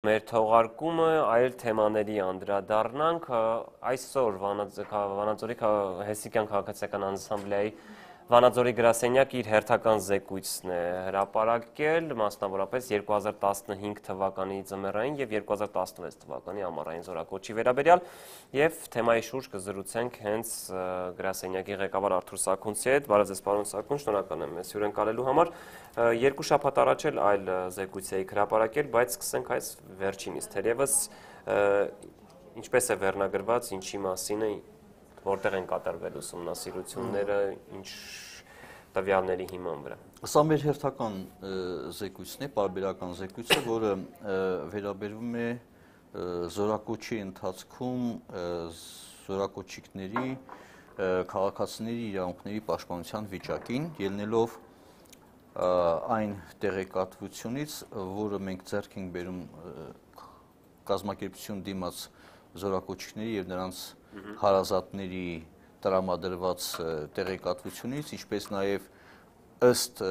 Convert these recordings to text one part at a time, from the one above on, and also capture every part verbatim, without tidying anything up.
Մեր թողարկումը այլ թեմաների անդրադառնանք այսօր Վանաձորի Հեսիկյան քաղաքացիական անսամբլեայի Վանաձորի գրասենյակը իր հերթական զեկույցն է հրապարակել, մասնավորապես երկու հազար տասնհինգ թվականի ձմեռային եւ երկու հազար տասնվեց թվականի ամառային զորակոչի վերաբերյալ եւ թեմայի շուրջ կզրուցենք հենց գրասենյակի ղեկավար Արթուր Սաքունցի հետ։ Բարև ձեզ, պարոն Սաքուն, շնորհակալ եմ մեզ հյուրընկալելու համար։ Երկու շաբաթ առաջ էլ այլ զեկույց էիք հրապարակել, բայց սկսենք այս վերջինից։ Թերևս ինչպես է վերնագրված, ինչի մասին է, որտեղ են կատարվել ուսումնասիրությունները, ինչ տվյալների հիման վրա։ Սա մեր հերթական զեկույցն է, պարբերական զեկույցը, որը վերաբերվում է զորակոչի ընթացքում զորակոչիկների, քաղաքացիների իրավունքների պաշտպանության վիճակին, ելնելով այն տեղեկատվությունից, որը մենք ձեռք ենք բերում կազմակերպություն դիմաց զորակոչիկների եւ նրանց հարազատների տրամադրված տեղեկատվությունից, ինչպես նաև ըստ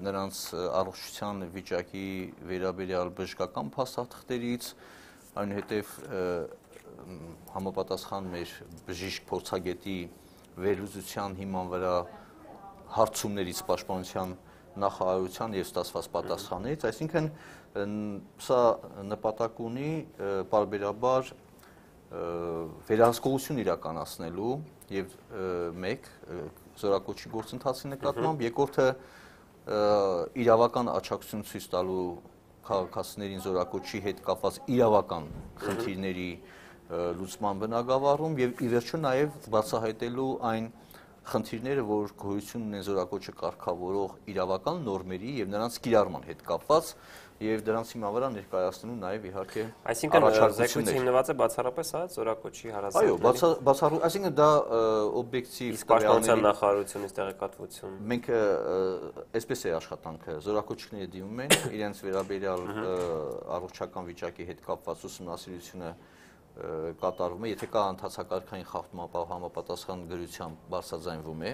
նրանց առողջության վիճակի վերաբերյալ բժշկական փաստաթղթերից, այնուհետև համապատասխան մեր բժիշկ փորձագետի վերլուծության հիման վրա հարցումներից պաշտպանության նախարարության եւ ստացված պատասխաններից, այսինքն սա նպատակ ունի պարբերաբար վերահսկողություն իրականացնելու եւ մեկ զորակոչի գործընթացի նկատմամբ, երկրորդը իրավական աջակցություն ցույց տալու քաղաքացիներին զորակոչի հետ կապված իրավական խնդիրների լուծման բնագավառում եւ ի վերջո նաեւ բացահայտելու այն խնդիրները, որ գոյություն ունեն զորակոչը կարգավորող իրավական նորմերի եւ նրանց կիրառման հետ կապված եւ դրանց հիման վրա ներկայացնելու նաեւ իհարկե առաջարկություններ։ Այսինքն զեկույցը հիմնված է բացառապես հա զորակոչի հարազատների։ Այո, բացառու, այսինքն դա օբյեկտիվ պաշտպանության նախարարությունից տեղեկատվություն։ Մենք այսպես է աշխատանքը, զորակոչիկները դիմում են իրենց վերաբերյալ առողջական վիճակի հետ կապված ուսումնասիրությունը կատարվում է, եթե կա ընթացակարգային խախտում, ապա համապատասխան գրությամբ բարձրաձայնվում է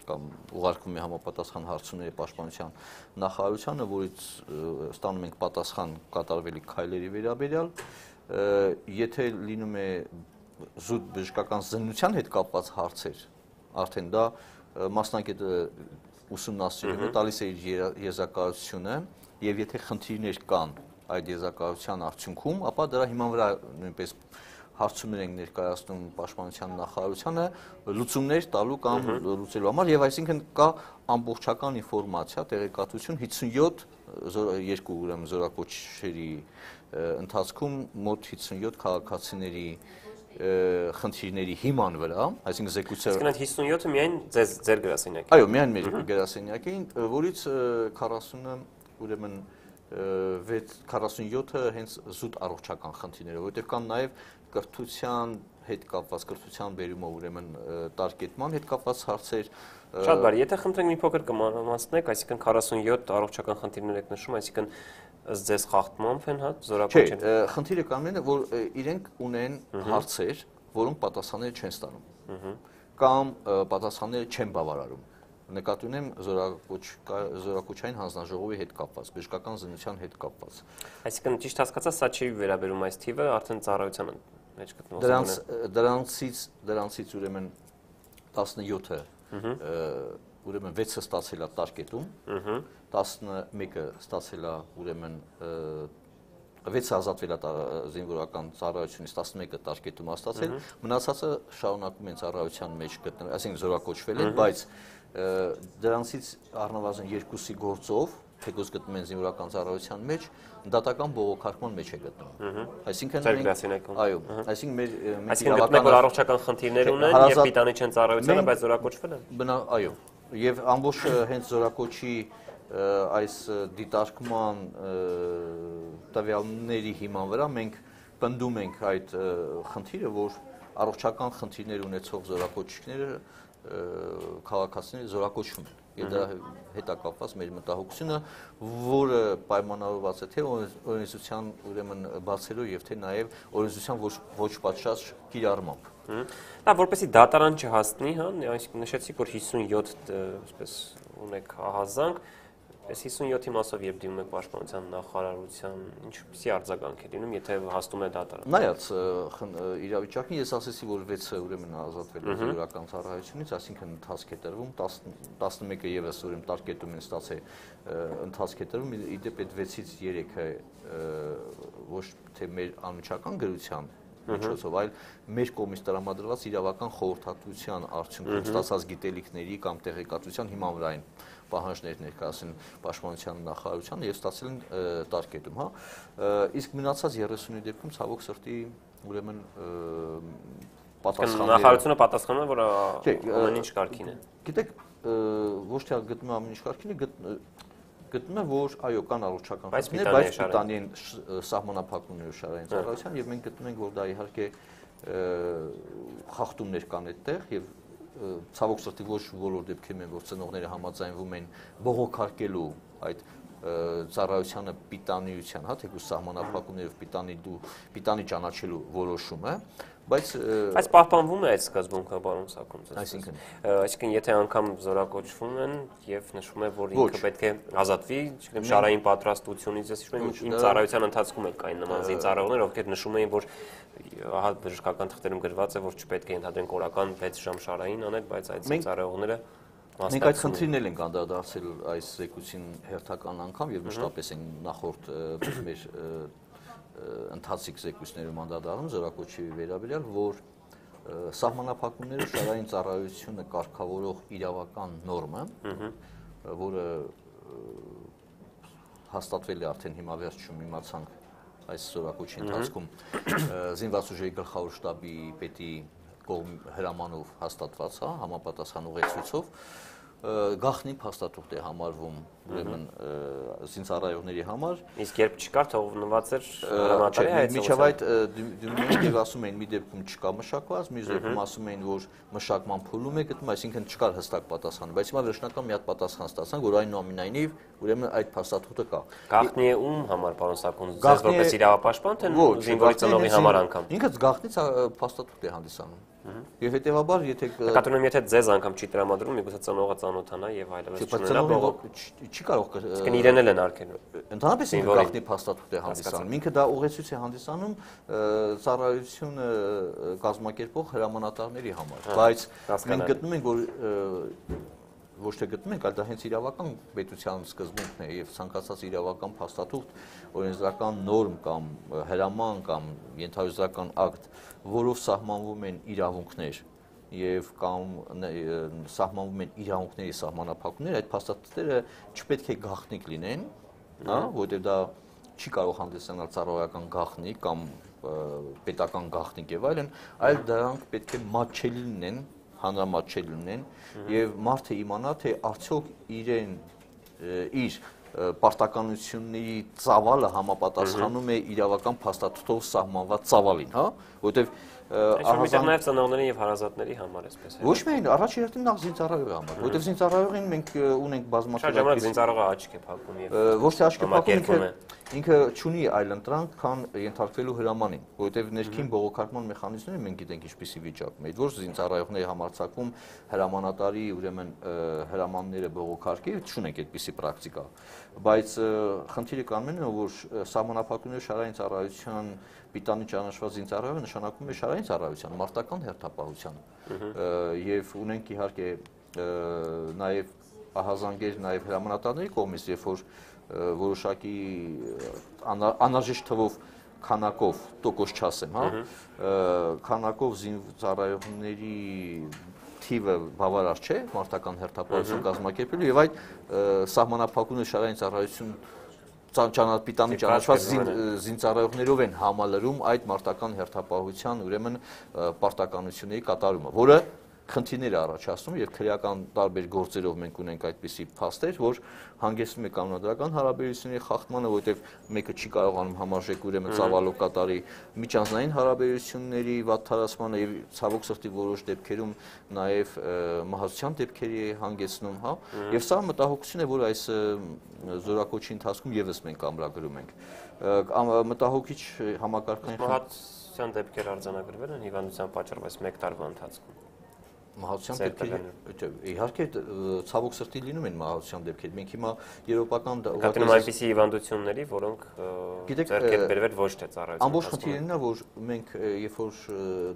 կամ ուղարկվում է համապատասխան հարցումների պաշտպանության նախարարությանը, որից ստանում ենք պատասխան կատարվելիք քայլերի վերաբերյալ, եթե լինում է զուտ բժշկական զննության հետ կապված հարցեր, արդեն դա մասնագետը ուսումնասիրում է, տալիս է իր եզրակացությունը եւ եթե խնդիրներ կան այդ եզրակացության արդյունքում, ապա դրա հիման վրա նույնպես հարցումներ ենք ներկայացնում պաշտպանության նախարարությանը լուծումներ տալու կամ լուծելու համար եւ այսինքն կա ամբողջական ինֆորմացիա, տեղեկատվություն հիսունյոթ երկու ուրեմն զորակոչերի ընթացքում մոտ հիսունյոթ քաղաքացիների խնդիրների հիման վրա, այսինքն զեկույցը Իսկ այդ հիսունյոթը միայն ձեր ձեր գրասենյակին։ Այո, միայն մեր գրասենյակին, որից քառասունը ուրեմն քառասունյոթը հենց զուտ առողջական խնդիրներ, որովհետև կան նաև կրթության հետ կապված, կրթության բերումով ուրեմն տարկետման հետ կապված հարցեր։ Շատ բարի, եթե խնդրենք մի փոքր կմանրամասնեք, այսինքն քառասունյոթ առողջական խնդիրներ եք նշում, այսինքն ըստ ձեզ խախտումով են հա զորակոչին։ Չէ, խնդիրը կանգնեն է, որ իրենք ունեն հարցեր, որոնք պատասխանները չեն ստանում կամ պատասխանները չեն բավարարում։ Նկատի ունեմ զորակոչային հանձնաժողովի հետ կապված, բժշկական զննության հետ կապված։ Այսինքն ճիշտ հասկացա, սա չի վերաբերում այս թիվը, արդեն ծառայության մեջ գտնվող։ Դրանց դրանցից դրանցից ուրեմն տասնյոթը ուրեմն վեցը ստացել է տարկետում, տասնմեկը ստացել է ուրեմն վեցը ազատվել է զինվորական ծառայությունից, տասնմեկը տարկետում է ստացել, մնացածը շարունակում են ծառայության մեջ գտնվել, այսինքն զորակոչվել են, բայց դրանցից առնվազն երկուսի գործով, թեկուզ գտնում են զինվորական ծառայության մեջ, դատական բողոքարկման մեջ է գտնվում։ Այսինքն Ձեր գրասենյակում։ Այո, այսինքն մեր Այսինքն գտնում որ առողջական խնդիրներ ունեն եւ պիտանի չեն ծառայությանը, բայց զորակոչվել են։ Բնա, այո, եւ ամբողջ հենց զորակոչի այս դիտարկման տվյալների հիման վրա մենք պնդում ենք այդ խնդիրը, որ առողջական խնդիրներ ունեցող զորակոչիկները քաղաքացիները զորակոչվում են եւ դրա հետ կապված մեր մտահոգությունը, որը պայմանավորված է թե օրենսդրության ուրեմն բացելով եւ թե նաեւ օրենսդրության ոչ պատշաճ կիրառմամբ։ Դա որպեսզի դատարան չհասնի, հա, այսինքն նշեցիք, որ հիսունյոթ այսպես ունեք ահազանգ, Այս հիսունյոթի մասով երբ դիմում եք պաշտպանության նախարարության, ինչպիսի արձագանք է լինում, եթե հաստում է դատարան։ Նայած իրավիճակին ես ասեցի, որ վեցը ուրեմն ազատվել է զորական ծառայությունից, այսինքն ընթացք է տրվում, տասնմեկը եւս ուրեմն տարկետում են ստացել ընթացք է տրվում, իդեպ այդ վեցից երեքը ոչ թե մեր անմիջական գրության միջոցով, այլ մեր կողմից տրամադրված իրավական խորհրդատվության արդյունքում ստացած գիտելիքների կամ տեղեկատվության հիման վրա են պահանջներ ներկայացին պաշտպանության նախարարությանը եւ ստացել են տարկետում, հա։ Իսկ մնացած երեսունի դեպքում ցավոք սրտի ուրեմն պատասխանները նախարարությունը պատասխանում է, որ ամեն ինչ կարգին է։ Գիտեք, ոչ թե գտնում ամեն ինչ կարգին է, գտնում է, որ այո, կան առողջական խնդիրներ, բայց պիտանի են սահմանափակումներ շարային ծառայության եւ մենք գտնում ենք, որ դա իհարկե խախտումներ կան այդտեղ եւ ցավոք սրտի ոչ բոլոր դեպքերում են, որ ծնողները համաձայնվում են բողոքարկելու այդ ծառայությանը պիտանիության, հա, թեկուզ սահմանափակումներով պիտանի դու պիտանի ճանաչելու որոշումը, բայց բայց պահպանվում է այդ սկզբունքը, պարոն Սաքունցյան։ Այսինքն, այսինքն եթե անգամ զորակոչվում են եւ նշվում է, որ ինքը պետք է ազատվի, չգիտեմ, շարային պատրաստությունից, ես հիշում եմ, իմ ծառայության ընթացքում էլ կային նման զինծառայողներ, ովքեր նշում էին, որ ահա բժշկական թղթերում գրված է, որ չպետք է ընդհանրեն կորական վեց ժամ շարային անել, բայց այդ զինծառայողները մենք այդ խնդիրն ենք անդրադարձել այս զեկույցին հերթական անգամ եւ մշտապես են նախորդ մեր ընթացիկ զեկույցներում անդրադառնում զորակոչի վերաբերյալ, որ սահմանափակումները շարային ծառայությունը կարգավորող իրավական նորմը, որը հաստատվել է արդեն հիմա վերջում իմացանք այս զորակոչի ընթացքում զինված ուժերի գլխավոր շտաբի պետի կողմ հրամանով հաստատված, հա, համապատասխան ուղեցույցով գաղտնի փաստաթուղթ է համարվում ուրեմն զինծառայողների համար։ Իսկ երբ չկար, թողնված էր հրամանատարի հայեցողությունը։ Միջև այդ դիմում էին եւ ասում էին մի դեպքում չկա մշակված, մի դեպքում ասում էին, որ մշակման փուլում է գտնում, այսինքն չկար հստակ պատասխան, բայց հիմա վերջնական մի հատ պատասխան ստացանք, որ այնուամենայնիվ ուրեմն այդ փաստաթուղթը կա։ Գաղտնի է ում համար, պարոն Սաքունցյան, ձեզ որպես իրավապաշտպան, թե զինվորի ծնողի համար անգամ։ Ինքը գաղտնից փաստաթուղթ է հանդիսանում։ Եվ հետեւաբար, եթե կատարում եթե ձեզ անգամ չի տրամադրում, միգուցե ծնողը ծանոթանա եւ այլևս չունենա բողոք չի կարող Իսկ իրեն էլ են արկելու։ Ընդհանրապես ինքը գաղտնի փաստաթուղթ է հանդիսանում։ Ինքը դա ուղեցույց է հանդիսանում ծառայությունը կազմակերպող հրամանատարների համար, բայց մենք գտնում ենք, որ ոչ թե գտնում ենք, այլ դա հենց իրավական պետության սկզբունքն է եւ ցանկացած իրավական փաստաթուղթ, օրենսդրական նորմ կամ հրաման կամ ենթայուզական ակտ, որով սահմանվում են իրավունքներ եւ կամ սահմանվում են իրավունքների սահմանափակումներ, այդ փաստաթղթերը չպետք է գաղտնիք լինեն, հա, որովհետեւ դա չի կարող հանդիսանալ ծառայական գաղտնիք կամ պետական գաղտնիք եւ այլն, այլ դրանք պետք է մատչելի լինեն, հանրամատչելի լինեն եւ մարդը իմանա, թե արդյոք իրեն իր պարտականությունների ծավալը համապատասխանում է իրավական փաստաթղթով սահմանված ծավալին, հա, որովհետեւ Այժմ նաև ծնողների եւ հարազատների համար էսպես է։ Ոչ միայն, առաջ երթին նախ զինծառայողի համար, որովհետեւ զինծառայողին մենք ունենք բազմաթիվ ժամանակ զինծառայողը աչք է փակում եւ ոչ թե աչք է փակում, ինքը չունի այլ ընտրանք, քան ենթարկվելու հրամանին, որովհետեւ ներքին բողոքարկման մեխանիզմները մենք գիտենք ինչպիսի վիճակում է, որ զինծառայողների համարձակվում հրամանատարի ուրեմն հրամանները բողոքարկի, չունենք այդպիսի պրակտիկա, բայց խնդիրը կանում է, որ սահմանափակումները շարային ծառայության պիտանի ճանաչված զինծառայողը նշանակում է շարային ծառայության, մարտական հերթապահության եւ ունենք իհարկե նաեւ ահազանգեր նաեւ հրամանատարների կողմից, երբ որ որոշակի անհրաժեշտ թվով քանակով, տոկոս չասեմ, հա, քանակով զինծառայողների թիվը բավարար չէ մարտական հերթապահություն կազմակերպելու եւ այդ սահմանափակումները շարային ծառայություն պիտանի ճանաչված զինծառայողներով են համալրում այդ մարտական հերթապահության ուրեմն պարտականությունների կատարումը, որը խնդիրներ է առաջացնում եւ քրեական տարբեր գործերով մենք ունենք այդպիսի փաստեր, որ հանգեցնում է կանոնադրական հարաբերությունների խախտմանը, որովհետեւ մեկը չի կարողանում համարժեք ուրեմն ծավալով կատարի միջանձնային հարաբերությունների վատթարացմանը եւ ցավոք սրտի որոշ դեպքերում նաեւ մահացության դեպքերի է հանգեցնում, հա, եւ սա մտահոգություն է, որ այս զորակոչի ընթացքում եւս մենք ամրագրում ենք։ Մտահոգիչ համակարգային մահացության դեպքեր արձանագրվել են հիվանդության պատճառով այս մեկ տարվա ընթացքում։ Մահացության դեպքեր, իհարկե ցավոք սրտի լինում են մահացության դեպքեր։ Մենք հիմա եվրոպական Կատնում այնպիսի հիվանդությունների, որոնք ձեռք են բերվել ոչ թե ծառայության։ Ամբողջ խնդիրն է, որ մենք երբ որ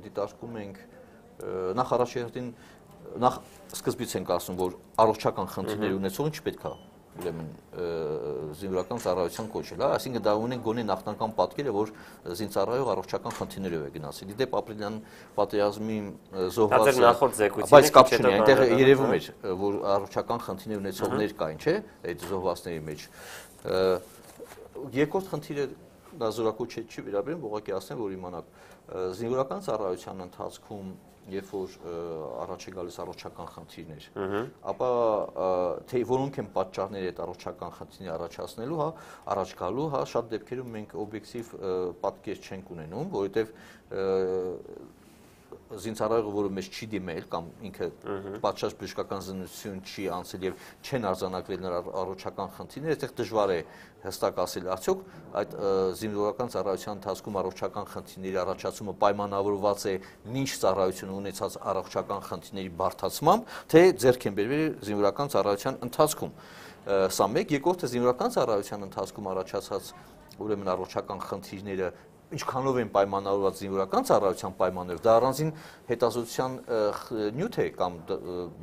դիտարկում ենք նախ առաջերտին նախ սկզբից ենք ասում, որ առողջական խնդիրներ ունեցողին չպետք է ուրեմն զինվորական ծառայության կոչել, այսինքն դա ունեն գոնե նախնական պատկերը, որ զինծառայող առողջական խնդիրներով է գնացել։ Իդեպ ապրիլյան պատերազմի զոհվածը, բայց կապ չունի, այնտեղ երևում էր, որ առողջական խնդիրներ ունեցողներ կային, չէ՞, այդ զոհվածների մեջ։ Երկրորդ խնդիրը դա զորակոչ չի վերաբերում, ուղղակի ասեմ, որ իմանաք, զինվորական ծառայության ընթացքում երբ որ առաջ է գալիս առողջական խնդիրներ, ապա թե որոնք են պատճառները այդ առողջական խնդիրները առաջացնելու, հա, առաջ գալու, հա, շատ դեպքերում մենք օբյեկտիվ պատկեր չենք ունենում, որովհետև զինծառայողը, որը մեզ չի դիմել կամ ինքը պատշաճ բժշկական զննություն չի անցել եւ չեն արձանագրել նրա առողջական խնդիրները, այդտեղ դժվար է հստակ ասել արդյոք այդ զինվորական ծառայության ընթացքում առողջական խնդիրների առաջացումը պայմանավորված է ինչ ծառայություն ունեցած առողջական խնդիրների բարդացմամբ, թե ձեռք են բերվել զինվորական ծառայության ընթացքում։ Սա մեկ, երկրորդը զինվորական ծառայության ընթացքում առաջացած ուրեմն առողջական խնդիրները ինչքանով են պայմանավորված զինվորական ծառայության պայմաններով, դա առանձին հետազոտության նյութ է կամ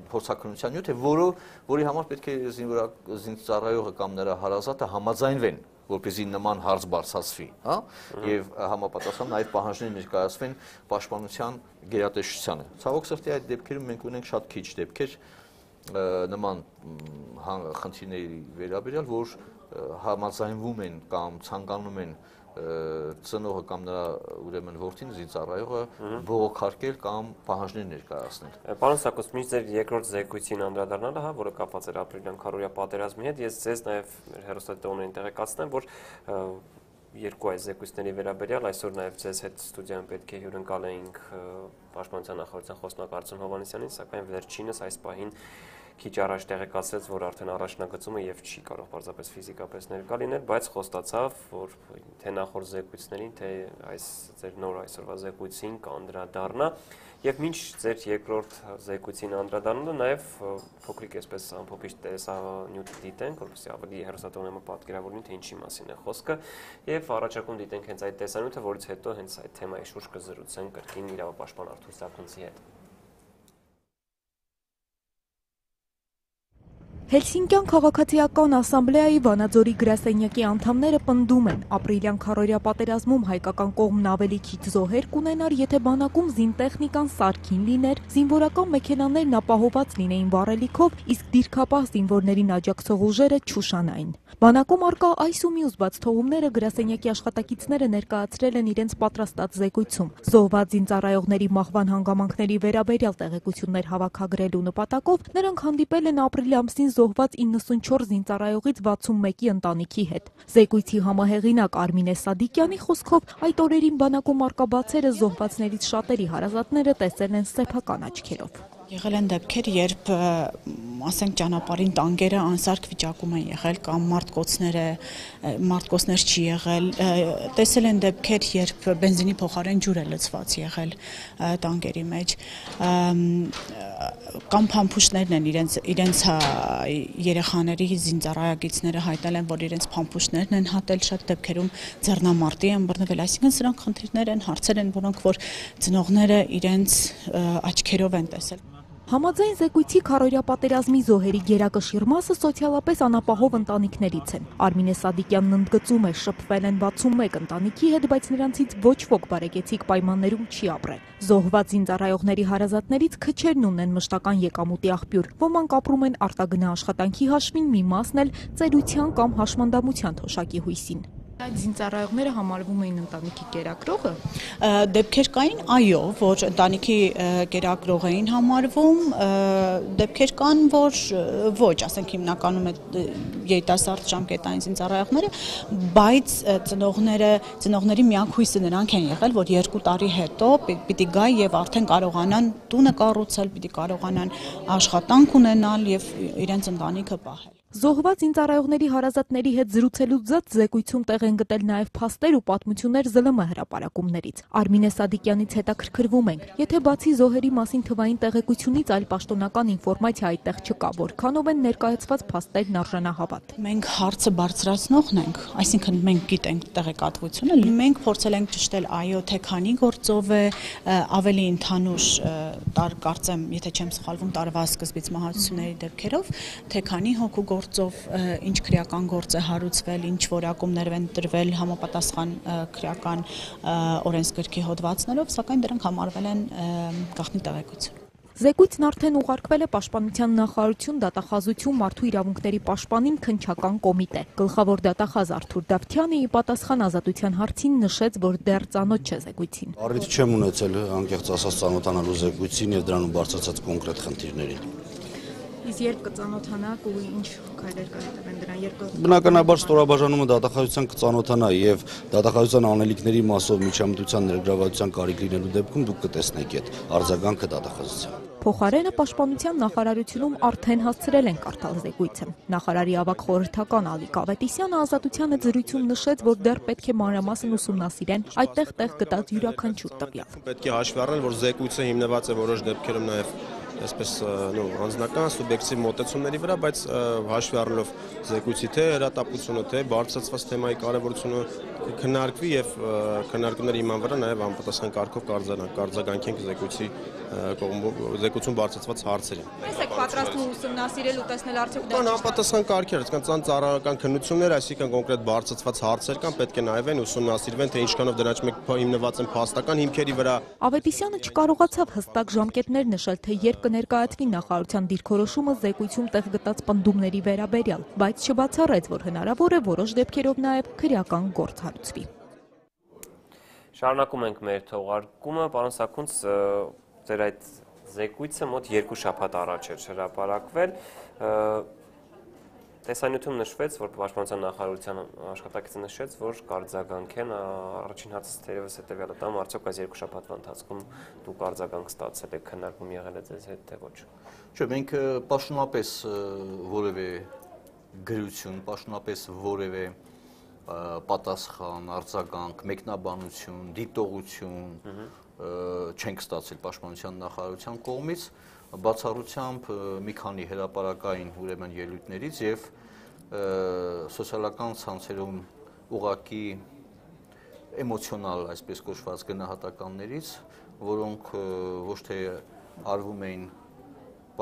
փորձաքննության նյութ է, որը որի համար պետք է զինծառայողը կամ նրա հարազատը համաձայնվեն, որպեսզի նման հարց բարձրացվի, հա, եւ համապատասխան նաեւ պահանջներ ներկայացվեն պաշտպանության գերատեսչությանը։ Ցավոք սրտի այդ դեպքերում մենք ունենք շատ քիչ դեպքեր նման խնդիրների վերաբերյալ, որ համաձայնվում են կամ ցանկանում են ծնողը կամ նրա ուրեմն որդին զինծառայողը բողոքարկել կամ պահանջներ ներկայացնել։ Պարոն Սակոս, միշտ ձեր երկրորդ զեկույցին անդրադառնալը, հա, որը կապված էր ապրիլյան քարոզիա պատերազմի հետ, ես ձեզ նաև հեռուստատիտողներին տեղեկացնեմ, որ երկու այս զեկույցների վերաբերյալ այսօր նաև ձեզ հետ ստուդիայում պետք է հյուրընկալեինք Պաշտպանության նախարարության խոսնակ Արտյոմ Հովհաննիսյանին, սակայն վերջինս այս պահին քիչ առաջ տեղեկացրեց, որ արդեն առաջնագծումը եւ չի կարող պարզապես ֆիզիկապես ներկա լինել, բայց խոստացավ, որ թե նախորդ զեկույցներին, թե այս ձեր նոր այսօրվա զեկույցին կանդրադառնա եւ մինչ ձեր երկրորդ զեկույցին անդրադառնալը նաեւ փոքրիկ այսպես ամփոփիչ տեսանյութ դիտենք, որովհետեւ ավելի հեռուստատողները պատկերավորեն, թե ինչի մասին է խոսքը եւ առաջարկում դիտենք հենց այդ տեսանյութը, որից հետո հենց այդ թեմայի շուրջ կզրուցենք կրկին իրավապաշտպան Արթուր Սարգսյանի հետ։ Հելսինկյան քաղաքացիական ասամբլեայի Վանաձորի գրասենյակի անդամները պնդում են, ապրիլյան քարոզիա պատերազմում հայկական կողմն ավելի քիչ զոհեր կունենար, եթե բանակում զինտեխնիկան սարքին լիներ, զինվորական մեքենաներն ապահոված լինեին վառելիքով, իսկ դիրքապահ զինվորներին աջակցող ուժերը չուշանային։ Բանակում արկա այս ու մյուս բաց թողումները գրասենյակի աշխատակիցները ներկայացրել են իրենց պատրաստած զեկույցում։ Զոհված զինծառայողների մահվան հանգամանքների վերաբերյալ տեղեկություններ հավաքագրելու նպատակով նրանք հանդիպել են ապրիլի ամսին զոհված իննսունչորս զինծառայողից վաթսունմեկի ընտանիքի հետ։ Զեկույցի համահեղինակ Արմինե Սադիկյանի խոսքով այդ օրերին բանակում արկա բացերը զոհվածներից շատերի հարազատները տեսել են սեփական աչքերով։ Եղել են դեպքեր, երբ ասենք ճանապարհին տանկերը անսարք վիճակում են եղել կամ մարտկոցները մարտկոցներ չի եղել, տեսել են դեպքեր, երբ բենզինի փոխարեն ջուր է լցված եղել տանկերի մեջ, կամ փամփուշտներն են իրենց իրենց երեխաների զինծառայակիցները հայտնել են, որ իրենց փամփուշտներն են հատել, շատ դեպքերում ձեռնամարտի են բռնվել, այսինքն սրանք խնդիրներ են, հարցեր են, որոնք որ ծնողները իրենց աչքերով են տեսել։ Համաձայն զեկույցի քարոզիա պատերազմի զոհերի գերակշիռ մասը սոցիալապես անապահով ընտանիքներից են։ Արմինե Սադիկյանն ընդգծում է, շփվել են վաթսունմեկ ընտանիքի հետ, բայց նրանցից ոչ ոք բարեկեցիկ պայմաններում չի ապրել։ Զոհված զինծառայողների հարազատներից քչերն ունեն մշտական եկամուտի աղբյուր։ Ոմանք ապրում են արտագնա աշխատանքի հաշվին, մի մասն էլ ծերության կամ հաշմանդամության թոշակի հույսին։ Այդ զինծառայողները համարվում էին ընտանիքի կերակրողը։ Դեպքեր կային, այո, որ ընտանիքի կերակրող էին համարվում, դեպքեր կան, որ ոչ, ասենք հիմնականում երիտասարդ ժամկետային զինծառայողները, բայց ծնողները, ծնողների միակ հույսը նրանք են եղել, որ երկու տարի հետո պիտի գա եւ արդեն կարողանան տունը կառուցել, պիտի կարողանան աշխատանք ունենալ եւ իրենց ընտանիքը պահել։ Զոհված ինձարայողների հարազատների հետ զրուցելուց զատ զեկույցում տեղ են գտել նաև փաստեր ու պատմություններ ԶԼՄ հրապարակումներից։ Արմինե Սադիկյանից հետաքրքրվում ենք, եթե բացի զոհերի մասին թվային տեղեկությունից այլ պաշտոնական ինֆորմացիա այդտեղ չկա, որքանով են ներկայացված փաստերն արժանահավատ։ Մենք հարցը բարձրացնողն ենք, այսինքն մենք գիտենք տեղեկատվությունը, մենք փորձել ենք ճշտել այո, թե քանի գործով է, ավելի ընդհանուր տար կարծեմ, եթե չեմ սխալվում, տարվա սկզբից մահացությունների դեպքերով, թե քանի հոգու գործով ինչ քրեական գործ է հարուցվել, ինչ որակումներ են տրվել համապատասխան քրեական օրենսգրքի հոդվածներով, սակայն դրանք համարվել են գաղտնի տեղեկություն։ Զեկույցն արդեն ուղարկվել է Պաշտպանության նախարարություն, դատախազություն, մարդու իրավունքների պաշտպանին քննչական կոմիտե։ Գլխավոր դատախազ Արթուր Դավթյանը ի պատասխան ազատության հարցին նշեց, որ դեռ ծանոթ չէ զեկույցին։ Առիթ չեմ ունեցել անկեղծ ասած ծանոթանալու զեկույցին եւ դրանում բարձրացած կոնկրետ խնդիրներին։ Իսկ երբ կծանոթանաք ու ինչ քայլեր կհետևեն դրան, երբ Բնականաբար ստորաբաժանումը դատախազության կծանոթանա եւ դատախազության անելիքների մասով միջամտության ներգրավվածության կարիք լինելու դեպքում դուք կտեսնեք այդ արձագանքը դատախազության։ Փոխարենը Պաշտպանության նախարարությունում արդեն հասցրել են կարդալ զեկույցը։ Նախարարի ավագ խորհրդական Ալիկ Ավետիսյանը ազատությանը զրույցում նշեց, որ դեռ պետք է մանրամասն ուսումնասիրեն այդտեղ տեղ գտած յուրաքանչյուր տվյալ։ Պետք է հաշվի առնել, որ զեկույցը հիմնված է որոշ դեպքերում նաև այսպես նո անձնական սուբյեկտիվ մոտեցումների վրա, բայց հաշվի առնելով զեկույցի թե հրատապությունը, թե բարձրացված թեմայի կարևորությունը քննարկվի եւ քննարկումների հիման վրա նաև անպատասխան կարգով կարձագանքենք զեկույցի զեկույցում բարձրացված հարցերին։ Ո՞նց եք պատրաստվում ուսումնասիրել ու տեսնել արդյոք դա անպատասխան կարգեր, կան ծառայական քննություններ, այսինքն կոնկրետ բարձրացված հարցեր կան, պետք է նայվեն, ուսումնասիրվեն, թե ինչքանով դրանց մեկ հիմնված են փաստական հիմքերի վրա։ Ավետիսյանը չկարողացավ հստակ ժամկետներ նշել, թե երբ կներկայացվի նախարարության դիրքորոշումը զեկույցում տեղ գտած պնդումների վերաբերյալ, բայց չբացառեց, որ հնարավոր է որոշ դեպքերով նաև քրեական գործ հարուցվի։ Շարունակում ենք մեր թողարկումը, պարոն Սաքունց, ձեր այդ զեկույցը մոտ երկու շաբաթ առաջ էր հրապարակվել։ Տեսանյութում նշվեց, որ Պաշտպանության նախարարության աշխատակիցը նշեց, որ կարձագանքեն առաջին հացից թերևս հետևյալը տամ, արդյոք այս երկու շաբաթվա ընթացքում դուք արձագանք ստացել եք, քննարկում եղել է ձեզ հետ, թե ոչ։ Չէ, մենք պաշտոնապես որևէ գրություն, պաշտոնապես որևէ պատասխան, արձագանք, մեկնաբանություն, դիտողություն չենք ստացել Պաշտպանության նախարարության կողմից, բացառությամբ մի քանի հրապարակային ուրեմն ելույթներից եւ սոցիալական ցանցերում ուղղակի էմոցիոնալ, այսպես կոչված գնահատականներից, որոնք ոչ թե արվում էին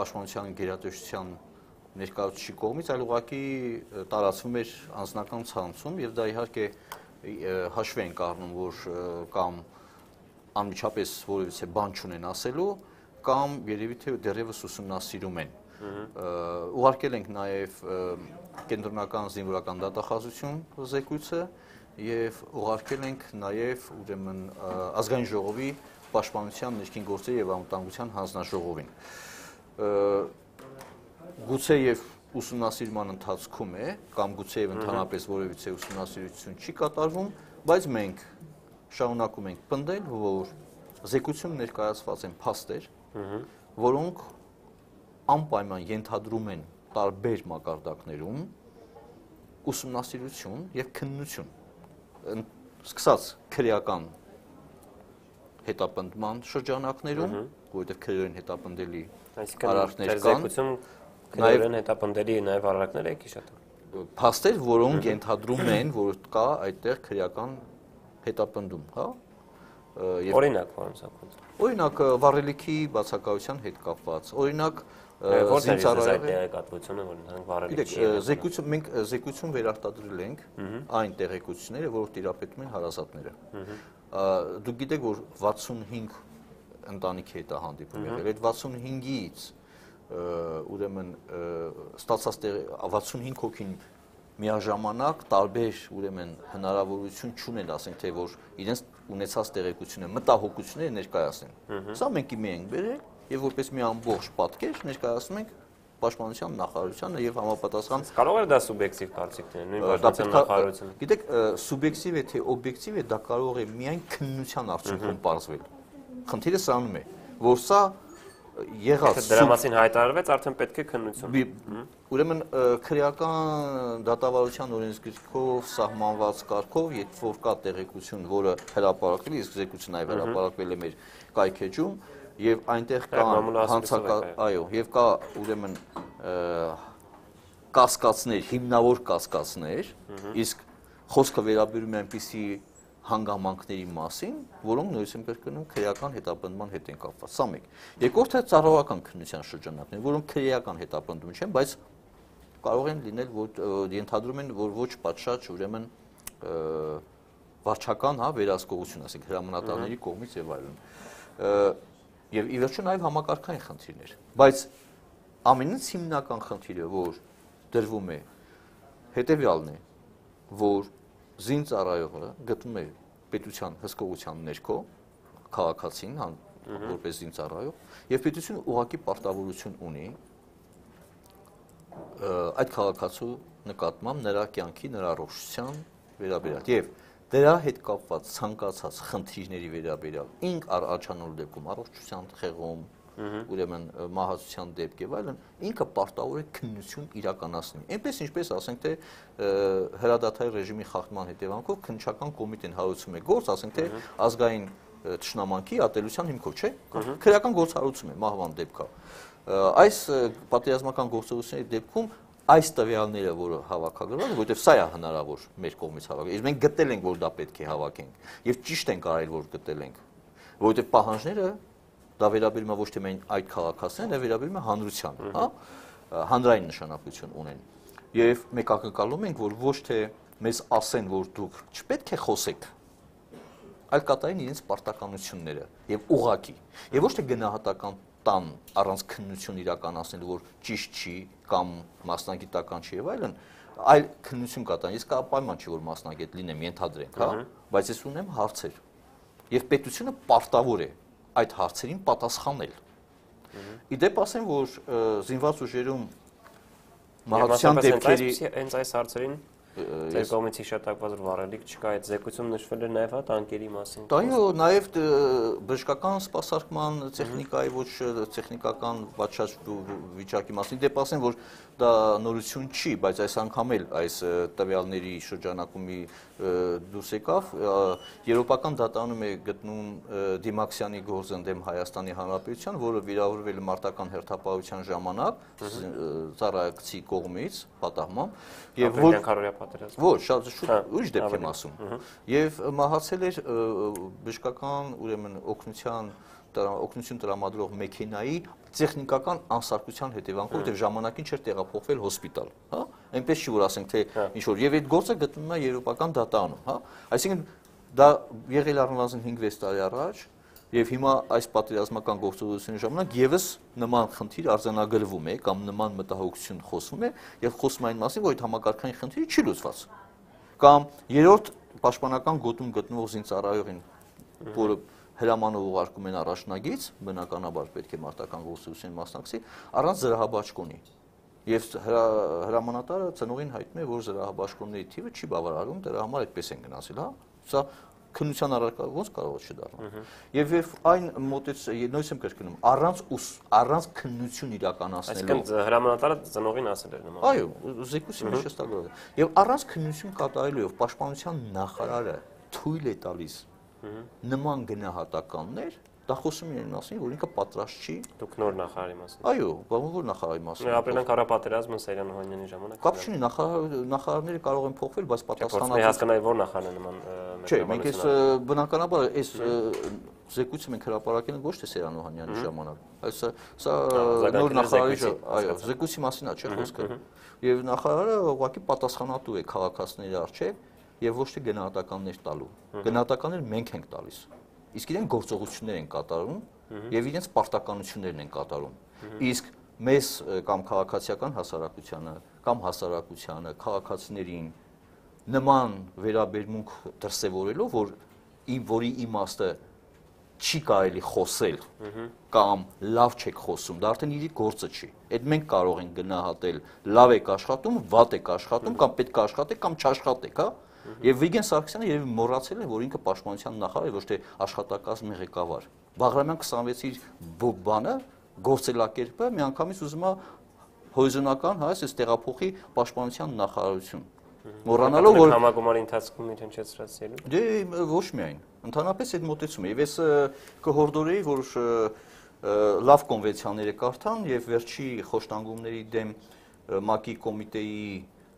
Պաշտպանության գերատեսչության ներկայացուցիչի կողմից, այլ ուղղակի տարածվում էր անձնական ցանցում եւ դա իհարկե հաշվի ենք առնում, որ կամ անմիջապես որևիցե բան չունեն ասելու, կամ երևի թե դեռևս ուսումնասիրում են։ Ուղարկել ենք նաև կենտրոնական զինվորական դատախազություն զեկույցը եւ ուղարկել ենք նաև ուրեմն ազգային ժողովի պաշտպանության ներքին գործերի եւ անվտանգության հանձնաժողովին։ Գուցե եւ ուսումնասիրման ընթացքում է, կամ գուցե եւ ընդհանրապես որևիցե ուսումնասիրություն չի կատարվում, բայց մենք շարունակում ենք պնդել, որ զեկույցում ներկայացված են փաստեր, որոնք անպայման ենթադրում են տարբեր մակարդակներում ուսումնասիրություն եւ քննություն, սկսած քրեական հետապնդման շրջանակներում, որովհետեւ քրեորեն հետապնդելի արարքներ կան, Քրեորեն հետապնդելի նաև արարքներ եք հիշատակում։ Փաստեր, որոնք ենթադրում են, որ կա այդտեղ քրեական հետապնդում, հա։ Օրինակ, պարոն Սաքունց։ Օրինակ վառելիքի բացակայության հետ կապված, օրինակ զինծառայողի տեղեկատվությունը, որ ընդհանուր վառելիքի։ Զեկույցում մենք զեկույցում վերարտադրել ենք այն տեղեկությունները, որոնք տիրապետում են հարազատները։ Դուք գիտեք, որ վաթսունհինգ ընտանիքի հետ է հանդիպում եղել, այդ վաթսունհինգից ուրեմն ստացած վաթսունհինգ հոգին միաժամանակ տարբեր ուրեմն հնարավորություն չունեն, ասենք թե որ իրենց ունեցած տեղեկությունը մտահոգությունները ներկայացնեն։ Սա մենք իմի ենք բերել եւ որպես մի ամբողջ պատկեր ներկայացնում ենք Պաշտպանության նախարարությանը եւ համապատասխան կարող է դա սուբյեկտիվ կարծիքներ, նույն Պաշտպանության նախարարությունը։ Գիտեք, սուբյեկտիվ է թե օբյեկտիվ է, դա կարող է միայն քննության արդյունքում պարզվել։ Խնդիրը սրանում է, որ սա եղած Դրա մասին հայտարարվեց, արդեն պետք է քննություն։ Ուրեմն քրեական դատավարության օրենսգրքով սահմանված կարգով, երբ որ կա տեղեկություն, որը հրապարակվել է, իսկ զեկույցը նաև հրապարակվել է մեր կայքեջում, եւ այնտեղ կա հանցական, այո, եւ կա ուրեմն կասկածներ, հիմնավոր կասկածներ, իսկ խոսքը վերաբերում է այնպիսի հանգամանքների մասին, որոնք նույնիսկ եմ կրկնում քրեական հետապնդման հետ են կապված։ Սա մեկ։ Երկրորդը ծառայական քննության շրջանակներ, որոնք քրեական հետապնդում չեն, բայց կարող են լինել, որ ենթադրում են, որ ոչ պատշաճ ուրեմն վարչական, հա, վերահսկողություն, ասենք հրամանատարների կողմից եւ այլն։ Եվ ի վերջո նաև համակարգային խնդիրներ, բայց ամենից հիմնական խնդիրը, որ դրվում է, հետեւյալն է, որ զինծառայողը գտնում է պետության հսկողության ներքո քաղաքացին, որպես զինծառայող, եւ պետությունը ուղղակի պարտավորություն ունի այդ քաղաքացու նկատմամբ նրա կյանքի, նրա առողջության վերաբերյալ եւ դրա հետ կապված ցանկացած խնդիրների վերաբերյալ ինք առաջանալու դեպքում առողջության խեղում, ուրեմն մահացության դեպք եւ այլն, ինքը պարտավոր է քննություն իրականացնի։ Այնպես ինչպես ասենք թե հրադադարի ռեժիմի խախտման հետևանքով քննչական կոմիտեն հարուցում է գործ, ասենք թե ազգային ճշնամանքի ատելության հիմքով, չէ՞։ Քրեական գործառույթում է մահվան դեպքա։ Այս պատերազմական գործողությունների դեպքում այս տվյալները, որը հավաքագրվել են, որովհետև սա է հնարավոր մեր կողմից հավաքել։ Իսկ մենք գտել ենք, որ դա պետք է հավաքենք, եւ ճիշտ ենք արել, որ գտել ենք, որովհետև պահանջները դա վերաբերում է ոչ թե միայն այդ քաղաքացիներին, այլ վերաբերում է հանրությանը, հա, հանրային նշանակություն ունեն։ Եվ մենք ակնկալում ենք, որ ոչ թե մեզ ասեն, որ դուք չպետք է խոսեք, այլ կատարեն իրենց պարտականությունները եւ ուղղակի։ Եվ ոչ թե գնահատական տան առանց քննություն իրականացնելու, որ ճիշտ չի կամ մասնագիտական չի եւ այլն, այլ քննություն կատարեն։ Իսկ պայման չի, որ մասնագետ լինեմ, ենթադրենք, հա, բայց ես ունեմ հարցեր։ Եվ պետությունը պարտավոր է այդ հարցերին պատասխանել։ Իդեպ ասեմ, որ զինված ուժերում մահացության դեպքերի հենց այս հարցերին ձեր կողմից հիշատակված վառելիք չկա, այդ զեկույցում նշվել է նաև հա տանկերի մասին։ Այո, նաև բժշկական սպասարկման տեխնիկայի ոչ տեխնիկական պատշաճ վիճակի մասին։ Դեպ ասեմ, որ դա նորություն չի, բայց այս անգամ էլ այս տվյալների շրջանակումի դուրս եկավ, Եվրոպական դատարանում է գտնում Դիմաքսյանի գործը դեմ Հայաստանի Հանրապետության, որը վիրավորվել է մարտական հերթապահության ժամանակ ծառայակցի կողմից պատահմամբ, եւ որ ոչ, շատ շուտ ուրիշ դեպք եմ ասում, եւ մահացել էր բժշկական, ուրեմն օգնության օգնություն տրամադրող մեքենայի տեխնիկական անսարքության հետևանքով, որտեղ ժամանակին չէր տեղափոխվել հոսպիտալ, հա, այնպես չի որ ասենք թե ինչ որ եւ այդ գործը գտնվում է Եվրոպական դատարանում, հա, այսինքն դա եղել առնվազն հինգ-վեց տարի առաջ եւ հիմա այս պատերազմական գործողությունների ժամանակ եւս նման խնդիր արձանագրվում է կամ նման մտահոգություն խոսվում է եւ խոսում այն մասին, որ այդ համակարգային խնդիրը չի լուծված, կամ երրորդ պաշտպանական գոտում գտնվող զինծառայողին, որը հրամանով ուղարկում են առաջնագից, բնականաբար պետք է մարտական գործողությունին մասնակցի, առանց զրահաբաճկոնի։ Եվ հրամանատարը ծնողին հայտնում է, որ զրահաբաճկոնների թիվը չի բավարարում, դրա համար այդպես են գնացել, հա։ Սա քննության առարկա ոնց կարող է չդառնալ։ Եվ եւ այն մոտից նույնիսկ եմ կրկնում, առանց առանց քննություն իրականացնելու։ Այսինքն հրամանատարը ծնողին ասել էր նման։ Այո, զեկույցի մեջ հստակորեն։ Եվ առանց քննություն կատարելու եւ պաշտպանության նախարարը թույլ է տալիս նման գնահատականներ, դա խոսում են մասին, որ ինքը պատրաստ չի։ Դուք նոր նախարարի մասին։ Այո, բավական որ նախարարի մասին։ Ապրիլյան կառապատերազմը Սերյան Օհանյանի ժամանակ։ Կապ չունի, նախարարները կարող են փոխվել, բայց պատասխանատու։ Հասկանայի որ նախարարն է նման։ Չէ, մենք այս բնականաբար այս զեկույցը մենք հրապարակել ենք ոչ թե Սերյան Օհանյանի ժամանակ։ Այս սա նոր նախարարի, այո, զեկույցի մասին է, չէ՞ խոսքը։ Եվ նախարարը ուղղակի պատասխանատու է քաղաքացիների առջև եւ ոչ թե գնահատականներ տալու։ Գնահատականներ մենք ենք տալիս։ Իսկ իրենք գործողություններ են կատարում եւ իրենց պարտականություններն են կատարում։ Իսկ մեզ կամ քաղաքացիական հասարակությանը կամ հասարակությանը, քաղաքացիներին նման վերաբերմունք դրսևորելով, որ որի իմաստը չի կարելի խոսել կամ լավ չեք խոսում, դա արդեն իր գործը չի։ Այդ մենք կարող ենք գնահատել լավ եք աշխատում, վատ եք աշխատում կամ պետք է աշխատեք կամ չաշխատեք, հա։ Եվ Վիգեն Սարգսյանը երևի մոռացել է, որ ինքը պաշտպանության նախարար է, ոչ թե աշխատակազմի ղեկավար։ Բաղրամյան քսանվեցի բանը գործելակերպը միանգամից ուզում է հորիզոնական, հա, այս տեղափոխի պաշտպանության նախարարություն։ Մոռանալով որ համագումարի ընթացքում իր հնչեցրած ելույթ։ Դե ոչ միայն, ընդհանրապես այդ մոտեցումը եւ ես կհորդորեի, որ լավ կոնվենցիաները կարդան եւ վերջի խոշտանգումների դեմ ՄԱԿ-ի կոմիտեի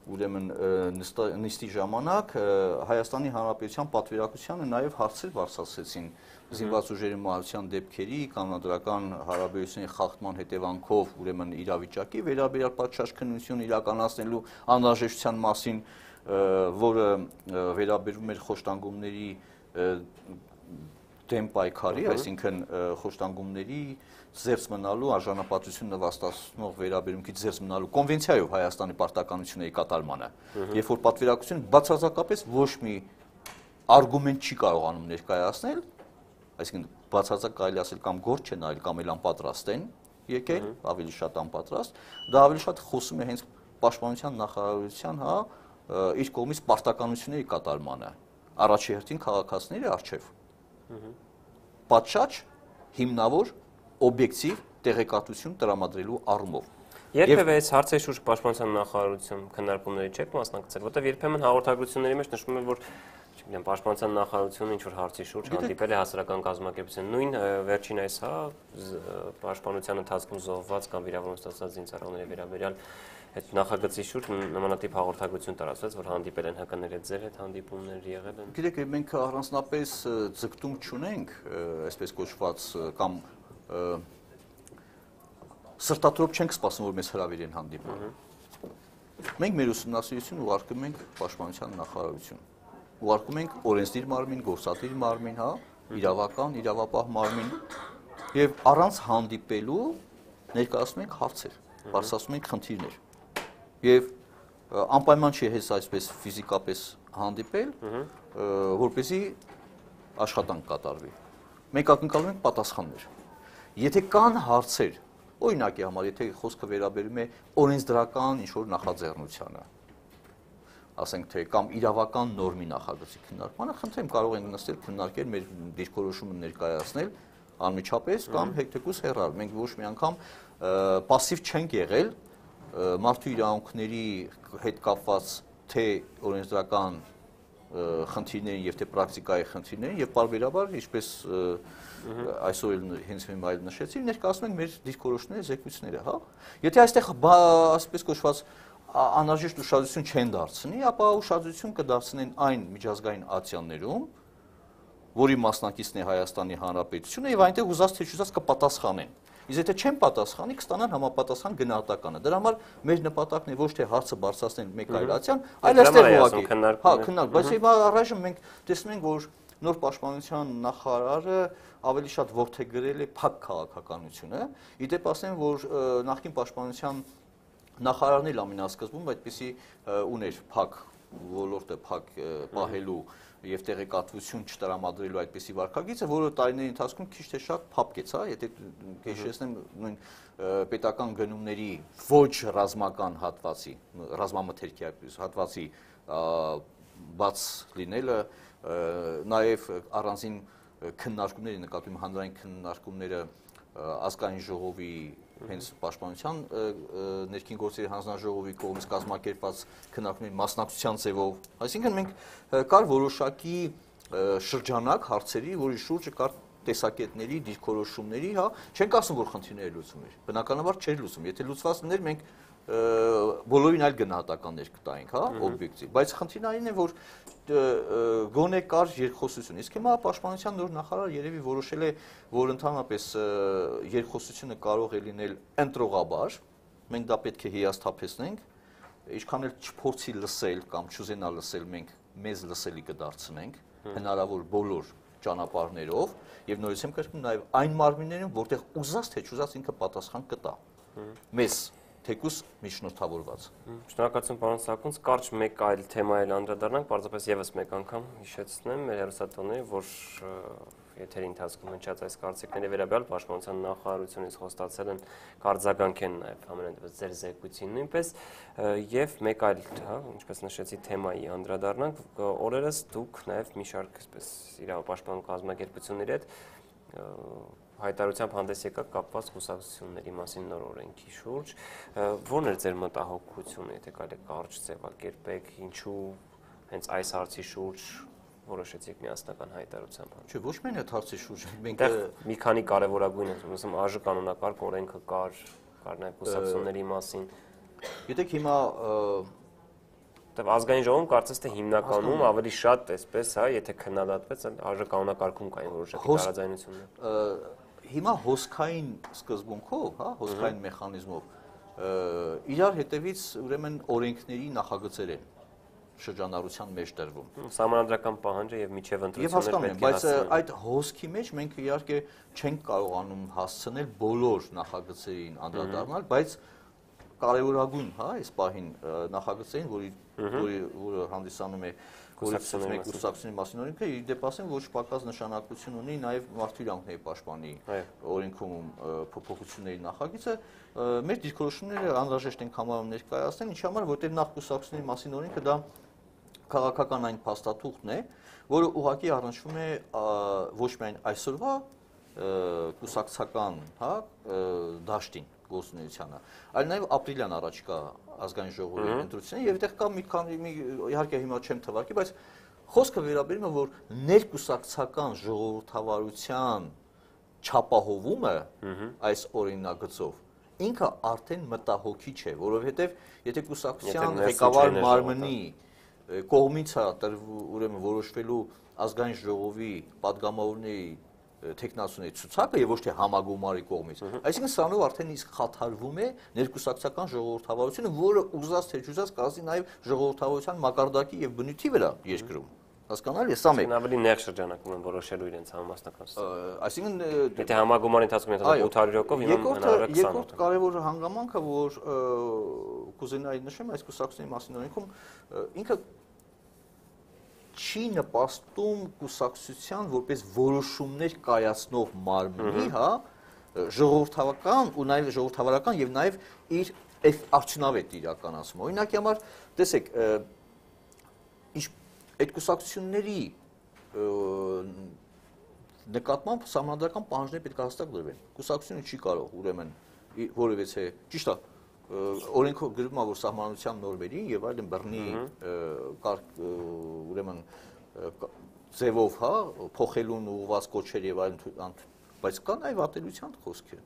ուրեմն նիստի ժամանակ Հայաստանի Հանրապետության պատվիրակությանը նաեւ հարցեր բարձրացրեցին զինված ուժերի մահացան դեպքերի կանոնադրական հարաբերությունների խախտման հետևանքով ուրեմն իրավիճակի վերաբերյալ պատշաճ քննություն իրականացնելու անհրաժեշտության մասին, որը վերաբերում էր խոշտանգումների դեմ պայքարի, այսինքն խոշտանգումների զերծ մնալու արժանապատվություն նվաստացնող վերաբերումքից զերծ մնալու կոնվենցիայով Հայաստանի պարտականությունների կատարմանը, երբ որ պատվիրակությունը բացարձակապես ոչ մի արգումենտ չի կարողանում ներկայացնել, այսինքն բացարձակ կարելի ասել կամ գործ չեն արել կամ էլ անպատրաստ են եկել, ավելի շատ անպատրաստ, դա ավելի շատ խոսում է հենց պաշտպանության նախարարության, հա, իր կողմից պարտականությունների կատարմանը, առաջի հերթին քաղաքացիների առջև։ Պատշաճ, հիմնավոր, օբյեկտիվ տեղեկատվություն տրամադրելու առումով։ Երբևէ այս հարցերի շուրջ պաշտպանության նախարարություն քննարկումների չեք մասնակցել, որտեղ երբեմն հաղորդագրությունների մեջ նշվում է, որ չգիտեմ, պաշտպանության նախարարությունը ինչ որ հարցի շուրջ հանդիպել է հասարակական կազմակերպության, նույն վերջին այս, հա, պաշտպանության ընթացքում զոհված կամ վիրավորում ստացած զինծառայողների վերաբերյալ այդ նախագծի շուրջ նմանատիպ հաղորդագրություն տարածվեց, որ հանդիպել են ՀԿ-ների հետ, ձեր հետ հանդիպումներ եղել են։ Գիտեք, մենք առանձնապես ձգտում չունենք, այսպես կոչված, կամ սրտատրոփ չենք սպասում, որ մեզ հրավիրեն հանդիպում։ Մենք մեր ուսումնասիրությունը ուղարկում ենք պաշտպանության նախարարություն։ Ուղարկում ենք օրենսդիր մարմին, գործադիր մարմին, հա, իրավական, իրավապահ մարմին եւ առանց հանդիպելու ներկայացնում ենք հարցեր, բարձրացնում ենք խնդիրներ։ Եվ անպայման չի հենց այսպես ֆիզիկապես հանդիպել, որպեսզի աշխատանք կատարվի։ Մենք ակնկալում ենք պատասխաններ։ Եթե կան հարցեր, օրինակի համար, եթե խոսքը վերաբերում է օրենսդրական ինչ-որ նախաձեռնությանը, ասենք թե կամ իրավական նորմի նախագծի քննարկմանը, խնդրեմ կարող ենք նստել քննարկել մեր դիրքորոշումը ներկայացնել անմիջապես կամ հետեւուս հեռալ։ Մենք ոչ մի անգամ пассив չենք եղել մարդու իրավունքների հետ կապված թե օրենսդրական խնդիրներին եւ թե պրակտիկայի խնդիրներին եւ բարբերաբար ինչպես այսօր էլ հենց հիմա այլ նշեցի, ներկայացնում ենք մեր դիրքորոշումների զեկույցները, հա։ Եթե այստեղ ասպես կոչված անհրաժեշտ ուշադրություն չեն դարձնի, ապա ուշադրություն կդարձնեն այն միջազգային ակցիաներում, որի մասնակիցն է Հայաստանի Հանրապետությունը եւ այնտեղ ուզած թե չուզած կպատասխանեն։ Իսկ եթե չեն պատասխանի, կստանան համապատասխան գնահատականը։ Դրա համար մեր նպատակն է ոչ թե հարցը բարձրացնել մեկ այլ ակցիան, այլ այստեղ ուղղակի։ Հա, քննարկում, բայց հիմա առայժմ մենք տեսնում ենք, որ նոր պաշտպանության նախարարը ավելի շատ ողջագրել է փակ քաղաքականությունը։ Իդեպ ասեմ, որ նախկին պաշտպանության նախարարն էլ ամենասկզբում այդպիսի ուներ փակ ոլորտը փակ պահելու եւ տեղեկատվություն չտրամադրելու այդպիսի վարքագիծը, որը տարիների ընթացքում քիչ թե շատ փափկեց, հա, եթե հիշեցնեմ նույն պետական գնումների ոչ ռազմական հատվածի, ռազմամթերքի հատվածի բաց լինելը, նաեւ առանձին քննարկումների նկատի հանրային քննարկումները ազգային ժողովի հենց պաշտպանության ներքին գործերի հանձնաժողովի կողմից կազմակերպված քննարկումների մասնակցության ձևով, այսինքն մենք կար որոշակի շրջանակ հարցերի, որի շուրջը կար տեսակետների, դիրքորոշումների, հա, չենք ասում, որ խնդիրները լուծում էր, բնականաբար չէր լուծում, եթե լուծված լիներ, մենք բոլորին այլ գնահատականներ կտայինք, հա, օբյեկտիվ, բայց խնդիրն այն է, որ գոնե կար երկխոսություն, իսկ հիմա պաշտպանության նոր նախարար երևի որոշել է, որ ընդհանրապես երկխոսությունը կարող է լինել ընտրողաբար, մենք դա պետք է հիասթափեցնենք, ինչքան էլ չփորձի լսել կամ չուզենա լսել, մենք մեզ լսելի կդարձնենք, հնարավոր բոլոր ճանապարհներով եւ նորից եմ կրկնում նաեւ այն մարմիններում, որտեղ ուզած թե չուզած ինքը պատասխան կտա։ Մեզ թեկուս միջնորդավորված։ Շնորհակալություն պարոն Սարգսյան, կարճ մեկ այլ թեմա էլ անդրադառնանք, պարզապես եւս մեկ անգամ հիշեցնեմ մեր հեռուստատոներին, որ եթերի ընթացքում հնչած այս կարծիքների վերաբերյալ պաշտպանության նախարարությունից խոստացել են կարձագանքեն նաեւ ամենատեղծ ձեր զեկույցին նույնպես եւ մեկ այլ, հա, ինչպես նշեցի, թեմայի անդրադառնանք, օրերս դուք նաեւ մի շարք այսպես իրավապաշտպան կազմակերպությունների հետ հայտարարությամբ հանդես եկաք կապված կուսակցությունների մասին նոր օրենքի շուրջ, ո՞րն էր ձեր մտահոգությունը, եթե կարելի է կարճ ձևակերպեք, ինչու հենց այս հարցի շուրջ որոշեցիք միասնական հայտարարությամբ։ Չէ, ոչ միայն այդ հարցի շուրջ, մենք մի քանի կարևորագույն են, ասում ԱԺ կանոնակարգ օրենքը կար, կար նաև կուսակցությունների մասին։ Գիտեք, հիմա Դե ազգային ժողովում կարծես թե հիմնականում ավելի շատ էսպես, հա, եթե քննադատվեց, ԱԺ կանոնակարգում կային որոշակի տարաձայնություններ։ Հիմա հոսքային սկզբունքով, հա, հոսքային մեխանիզմով իրար հետևից ուրեմն օրենքների նախագծեր են շրջանառության մեջ տրվում։ Սահմանադրական պահանջը եւ միջև ընտրությունները պետք է հասկանան, բայց այդ հոսքի մեջ մենք իհարկե չենք կարողանում հասցնել բոլոր նախագծերին անդրադառնալ, բայց կարևորագույն, հա, այս պահին նախագծերին, որի որը հանդիսանում է կուսակցությունների մասին օրենքը, իր դեպասին ոչ պակաս նշանակություն ունի նաև մարդու իրավունքների պաշտպանի օրենքում փոփոխությունների նախագիծը, մեր դիրքորոշումները անհրաժեշտ են համարում ներկայացնել, ինչի համար, որտեղ նախ կուսակցությունների մասին օրենքը դա քաղաքական այն փաստաթուղթն է, որը ուղղակի առնչվում է ոչ միայն այսօրվա կուսակցական, հա, դաշտին գործունեությանը, այլ նաև ապրիլյան առաջկա ազգային ժողովի ընտրություններին եւ այդտեղ կա մի քանի իհարկե հիմա չեմ թվարկի, բայց խոսքը վերաբերում է որ ներկուսակցական ժողովրդավարության չափահովումը այս օրինագծով ինքը արդեն մտահոգիչ է, որովհետեւ եթե կուսակցության ղեկավար մարմնի կողմից է ուրեմն որոշվելու ազգային ժողովի падգամավորների տեխնացուների ցուցակը եւ ոչ թե համագումարի կողմից։ Այսինքն սրանով արդեն իսկ խաթարվում է ներկուսակցական ժողովրդավարությունը, որը ուզած թե չուզած կազմի նաեւ ժողովրդավարության մակարդակի եւ բնույթի վրա երկրում։ Հասկանալի է, սա մեկ։ Ավելի նեղ շրջանակում են որոշելու իրենց համապաստական։ Այսինքն եթե համագումարի ընթացքում եթե ութ հարյուր հոգով հիմա հնարավոր է քսան։ Երկրորդ կարևոր հանգամանքը, որ կուզենայի նշեմ այս կուսակցությունների մասին օրենքում, ինքը չի նպաստում կուսակցության որպես որոշումներ կայացնող մարմնի, հա, ժողովրդավարական ու նաև ժողովրդավարական եւ նաև իր արդյունավետ իրականացում։ Օրինակի համար, տեսեք, այդ կուսակցությունների նկատմամբ սահմանադրական պահանջներ պետք է հստակ դրվեն։ Կուսակցությունը չի կարող ուրեմն որևէ, ճիշտ է, օրենքով գրվում է որ սահմանության նորմերի եւ այլն բռնի ուրեմն ձևով, հա, փոխելուն ուղղված կոչեր եւ այլն, բայց կա նաեւ ատելության խոսքը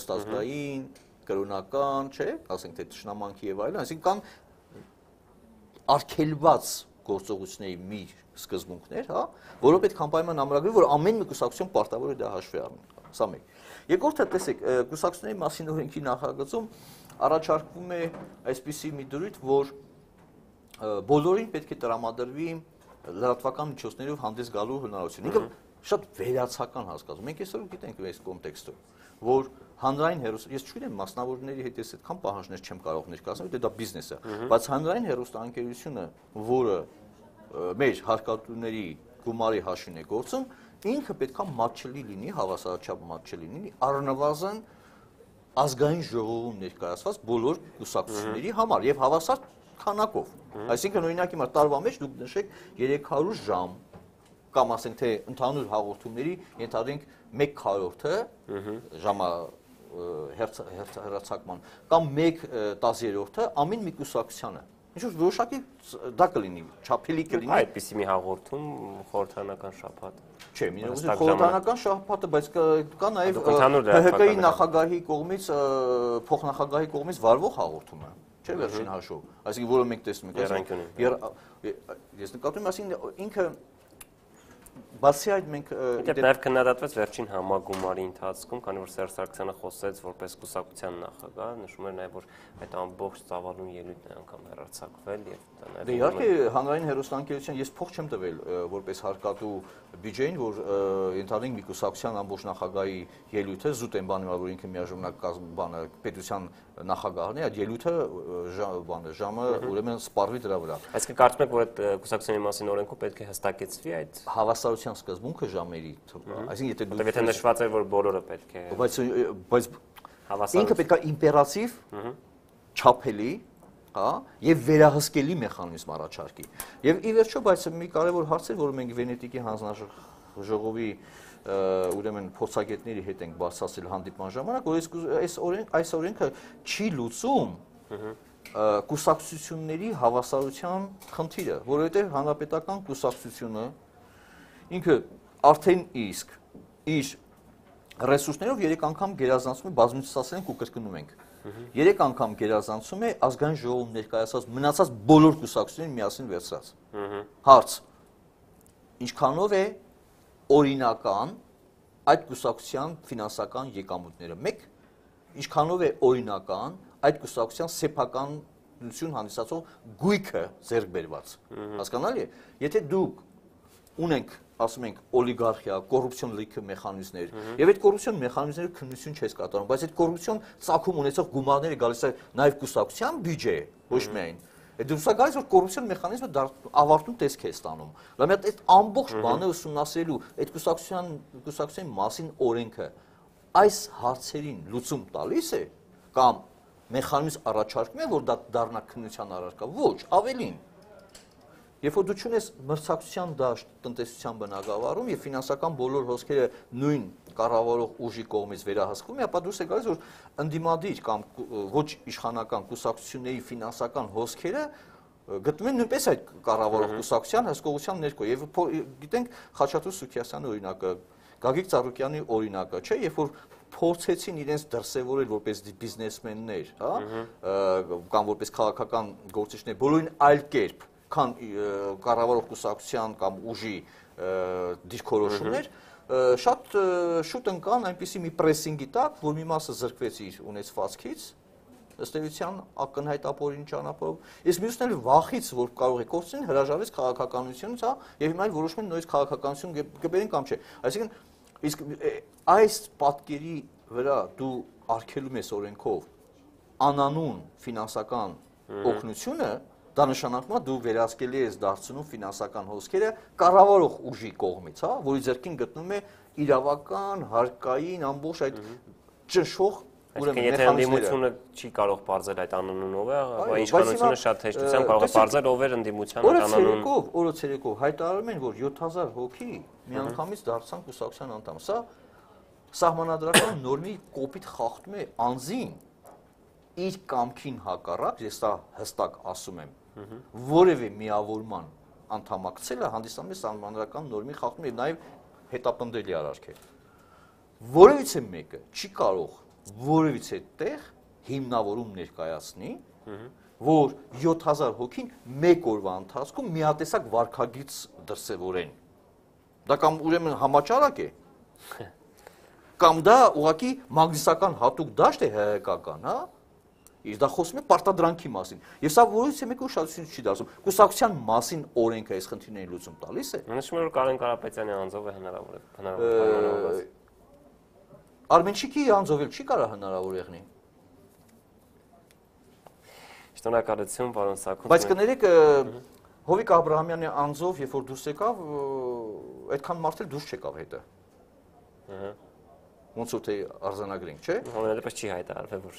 ըստ ազգային, կրոնական, չէ, ասենք թե ճշնամանքի եւ այլն, այսինքն կան արգելված գործողությունների մի սկզբունքներ, հա, որով պետք է անպայման ամրագրվի, որ ամեն մի կուսակցություն պարտավոր է դա հաշվի առնել, սա մեկ։ Երկրորդը, տեսեք, կուսակցությունների մասին օրենքի նախագծում առաջարկվում է այսպիսի մի դրույթ, որ բոլորին պետք է տրամադրվի լրատվական միջոցներով հանդես գալու հնարավորություն։ Ինքը շատ վերացական հասկացում։ Մենք այսօր գիտենք այս կոնտեքստում, որ հանրային հեռուստա, ես չգիտեմ մասնավորների հետ ես այդքան պահանջներ չեմ կարող ներկայացնել, դե դա բիզնես է, բայց հանրային հեռուստաընկերությունը, որը մեր հարկատուների գումարի հաշվին է գործում, ինքը պետքա մատչելի լինի, հավասարաչափ մատչելի լինի, առնվազն ազգային ժողովում ներկայացված բոլոր կուսակցությունների համար եւ հավասար քանակով։ Այսինքն օրինակ հիմա տարվա մեջ դուք նշեք երեք հարյուր ժամ կամ ասենք թե ընդհանուր հաղորդումների ենթադրենք մեկ քառորդը ժամա հեռացակման կամ մեկ տասներորդը ամեն մի կուսակցությանը։ Ինչ-որ որոշակի դա կլինի, չափելի կլինի։ Այդպիսի մի հաղորդում խորհրդարանական շաբաթ։ Չէ, մի խորհրդարանական շաբաթը, բայց կա նաև ՀՀԿ-ի նախագահի կողմից, փոխնախագահի կողմից վարվող հաղորդումը, չէ, վերջին հաշվով, այսինքն որը մենք տեսնում ենք։ Ես նկատում եմ, այսինքն ինքը բացի այդ մենք Իդեպ նաև քննադատվեց վերջին համագումարի ընթացքում, քանի որ Սերժ Սարգսյանը խոսեց որպես կուսակցության նախագահ, նշում էր նաև որ այդ ամբողջ ծավալուն ելույթն է անգամ հեռարձակվել եւ դա նաև Դե իհարկե հանրային հեռուստաընկերության ես փող չեմ տվել որպես հարկատու բյուջեին, որ ենթադրենք մի կուսակցության ամբողջ նախագահի ելույթը զուտ են բանում, որ ինքը միաժամանակ բանը պետության նախագահն է, այդ ելույթը բանը ժամը ուրեմն սպառվի դրա վրա։ Այսինքն կարծում եք որ այդ կուսակցությունների մասին օրենքում պետք է հստակեցվի այդ հավասարության սկզբունքը ժամերի, այսինքն եթե դու Եթե նշված է որ բոլորը պետք է բայց բայց ինքը պետք է իմպերատիվ, չափելի, հա, եւ վերահսկելի մեխանիզմ առաջարկի։ Եվ ի վերջո, բայց մի կարևոր հարց է, որը մենք Վենետիկի ժողովի ուրեմն փորձագետների հետ ենք բարձրացել հանդիպման ժամանակ, որ այս օրենք այս օրենքը չի լուծում կուսակցությունների հավասարության խնդիրը, որովհետև հանրապետական կուսակցությունը ինքը արդեն իսկ իր ռեսուրսներով երեք անգամ գերազանցում է, բազմիցս ասել ենք ու կրկնում ենք, երեք անգամ գերազանցում է ազգային ժողովում ներկայացած մնացած բոլոր կուսակցություններին միասին վերցրած։ Հարց. ինչքանով է օրինական այդ կուսակցության ֆինանսական եկամուտները։ Մեկ, ինչքանով է օրինական այդ կուսակցության սեփականություն հանդիսացող գույքը ձեռք բերված։ Հասկանալի է։ Եթե դուք ունենք, ասում ենք, օլիգարխիա, կոռուպցիոն լիքը մեխանիզմներ, եւ այդ կոռուպցիոն մեխանիզմները քննություն չես կատարում, բայց այդ կոռուպցիոն ծագում ունեցող գումարները գալիս է նաեւ կուսակցության բյուջե, ոչ միայն։ Այդ դուրս է գալիս, որ կոռուպցիոն մեխանիզմը ավարտուն տեսք է ստանում։ Լավ, այդ ամբողջ բանը ուսումնասիրելու այդ կուսակցության կուսակցության մասին օրենքը այս հարցերին լուծում տալիս է կամ մեխանիզմ առաջարկում է, որ դա դառնա քննության առարկա։ Ոչ, ավելին։ Երբ որ դու չունես մրցակցության դաշտ տնտեսության բնագավառում եւ ֆինանսական բոլոր հոսքերը նույն կառավարող ուժի կողմից վերահսկվում, ապա դուրս է գալիս, որ ընդդիմադիր կամ ոչ իշխանական կուսակցությունների ֆինանսական հոսքերը գտնվում են նույնպես այդ կառավարող կուսակցության հսկողության ներքո։ Եվ գիտենք Խաչատուր Սուքիասյանի օրինակը, Գագիկ Ծառուկյանի օրինակը, չէ, երբ որ փորձեցին իրենց դրսևորել որպես բիզնեսմեններ, հա, կամ որպես քաղաքական գործիչներ, բոլորին այլ կերպ քան կառավարող կուսակցության կամ ուժի դիրքորոշումներ, շատ շուտ ընկան այնպիսի մի պրեսինգի տակ, որ մի մասը զրկվեց իր ունեցվածքից, ըստ էության ակնհայտ ապօրինի ճանապարհով, իսկ մյուսն էլ վախից, որ կարող է կորցնել, հրաժարվեց քաղաքականությունից, հա, եւ հիմա որոշում են նույնիսկ քաղաքականություն կբերեն կամ չէ։ Այսինքն, իսկ այս պատկերի վրա դու արգելում ես օրենքով անանուն ֆինանսական օգնությունը, դա նշանակում է դու վերահսկելի ես դարձնում ֆինանսական հոսքերը կառավարող ուժի կողմից, հա, որի ձեռքին գտնում է իրավական, հարկային ամբողջ այդ ճնշող ուրեմն եթե ընդդիմությունը չի կարող բարձել այդ անանունով է, ապա իշխանությունը շատ հեշտությամբ կարող է բարձել ով էր ընդդիմության անանուն։ Օրը ցերեկով հայտարարում են, որ յոթ հազար հոգի միանգամից դարձան կուսակցության անդամ։ Սա սահմանադրական նորմի կոպիտ խախտում է անձին իր կամքին հակառակ, ես դա հստակ ասում եմ, որևէ միավորման անդամակցելը հանդիսանում է սահմանադրական նորմի խախտում եւ նաեւ հետապնդելի արարք է։ Որևիցե մեկը չի կարող որևիցե տեղ հիմնավորում ներկայացնի, որ յոթ հազար հոգին մեկ օրվա ընթացքում միատեսակ վարքագիծ դրսևորեն։ Դա կամ ուրեմն համաճարակ է, կամ դա ուղղակի մագնիսական հատուկ դաշտ է հայկական, հա։ Իսկ դա խոսում է պարտադրանքի մասին։ Եվ սա որից է մեկը ուշադրություն չի դարձնում։ Կուսակցության մասին օրենքը այս խնդիրների լուծում տալիս է։ Նշում է, որ Կարեն Կարապետյանի անձով է հնարավոր է հնարավոր։ Արմենչիկի անձով էլ չի կարող հնարավոր եղնի։ Շնորհակալություն, պարոն Սաքուն։ Բայց կներեք, Հովիկ Աբրահամյանի անձով, երբ որ դուրս եկավ, այդքան մարդ էլ դուրս չեկավ հետը։ Ահա։ Ոնց որ թե արձանագրենք, չէ՞։ Համենայնպես չի հայտարարվել, որ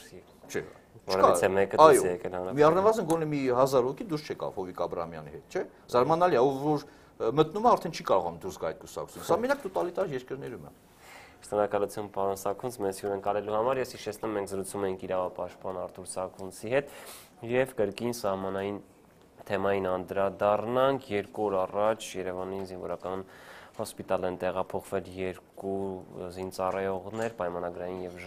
չէ։ Որևիցե մեկը դուրս եկել հանրապետություն։ Մի առնվազն գոնե մի հազար հոգի դուրս չեկավ Հովիկ Աբրահամյանի հետ, չէ՞։ Զարմանալի է, ով որ մտնում է արդեն չի կարողանում դուրս գալ այդ կուսակցություն։ Սա մենակ տոտալիտար երկրներում է։ Շնորհակալություն, պարոն Սաքունց, մեզ հյուրընկալելու համար։ Ես հիշեցնում ենք զրուցում ենք իրավապաշտպան Արտուր Սաքունցի հետ եւ կրկին սահմանային թեմային անդրադառնանք։ Երկու օր առաջ Երևանի զինվորական հոսպիտալ են տեղափոխվել երկու զինծառայողներ, պայմանագրային եւ